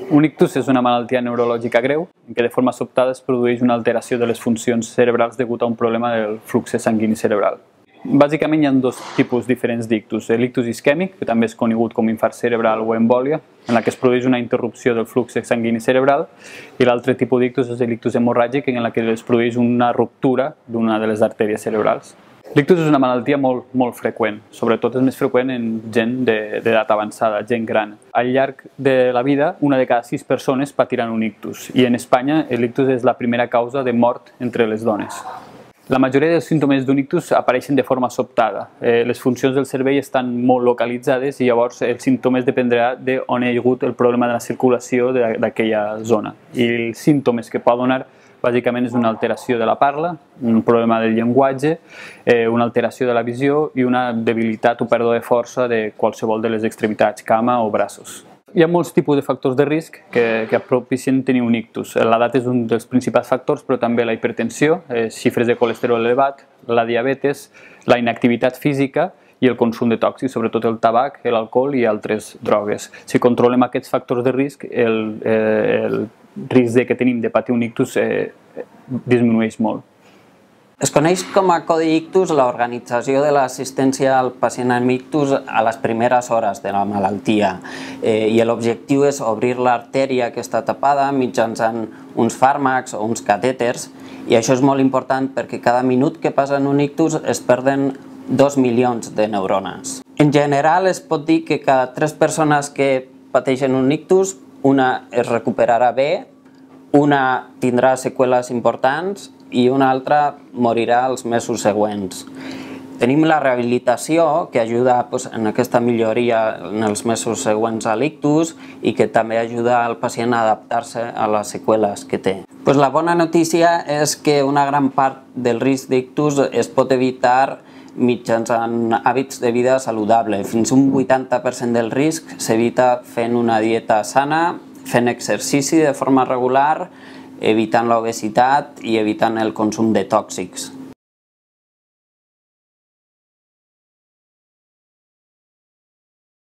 Un ictus és una malaltia neurològica greu en què de forma sobtada es produeix una alteració de les funcions cerebrals degut a un problema del flux sanguini cerebral. Bàsicament hi ha dos tipus diferents d'ictus. L'ictus isquèmic, que també és conegut com infart cerebral o embòlia, en la que es produeix una interrupció del flux sanguini cerebral, i l'altre tipus d'ictus és l'ictus hemorràgic, en la que es produeix una ruptura d'una de les artèries cerebrals. L'ictus és una malaltia molt freqüent, sobretot és més freqüent en gent d'edat avançada, gent gran. Al llarg de la vida, una de cada 6 persones patiran un ictus, i en Espanya l'ictus és la primera causa de mort entre les dones. La majoria dels símptomes d'un ictus apareixen de forma sobtada. Les funcions del cervell estan molt localitzades i llavors els símptomes dependrà d'on hi ha hagut el problema de la circulació d'aquella zona. I els símptomes que pot donar bàsicament és una alteració de la parla, un problema del llenguatge, una alteració de la visió i una debilitat o pèrdua de força de qualsevol de les extremitats, cama o braços. Hi ha molts tipus de factors de risc que propicien tenir un ictus. L'edat és un dels principals factors, però també la hipertensió, xifres de colesterol elevat, la diabetes, la inactivitat física i el consum de tòxics, sobretot el tabac, l'alcohol i altres drogues. Si controlem aquests factors de risc, el risc que tenim de patir un ictus disminueix molt. Es coneix com a Codi Ictus l'organització de l'assistència al pacient amb ictus a les primeres hores de la malaltia, i l'objectiu és obrir l'artèria que està tapada mitjançant uns fàrmacs o uns catèters, i això és molt important perquè cada minut que passa en un ictus es perden 2 milions de neurones. En general es pot dir que cada 3 persones que pateixen un ictus, una es recuperarà bé, una tindrà seqüeles importants i una altra morirà els mesos següents. Tenim la rehabilitació, que ajuda en aquesta milloria en els mesos següents a l'ictus i que també ajuda al pacient a adaptar-se a les seqüeles que té. La bona notícia és que una gran part del risc d'ictus es pot evitar mitjançant hàbits de vida saludable. Fins un 80% del risc s'evita fent una dieta sana, fent exercici de forma regular, evitant l'obesitat i evitant el consum de tòxics.